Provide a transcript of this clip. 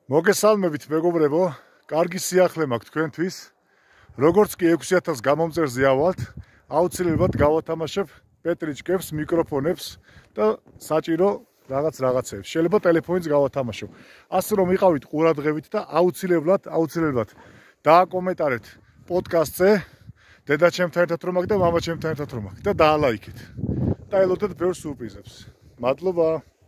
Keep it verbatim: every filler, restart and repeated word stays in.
მოგესალმებით მეგობრებო, კარგი სიახლე მაქვს თქვენთვის. როგორც კი ექვსი ათას გამომწერზე ავალთ, აუცილებლად გავათამაშებ პეტრიჭკებს, მიკროფონებს და საჭირო რაღაც რაღაცებს. შეიძლება ტელეფონიც გავათამაშო. ასე რომ იყავით ყურადღებით და აუცილებლად, აუცილებლად დააკომენტარეთ პოდკასტზე, დედაჩემთან ერთად რომ აქ და მამაჩემთან ერთად რომ აქ და დაალაიქეთ. და ელოდეთ ბევრ სურპრიზებს. მადლობა.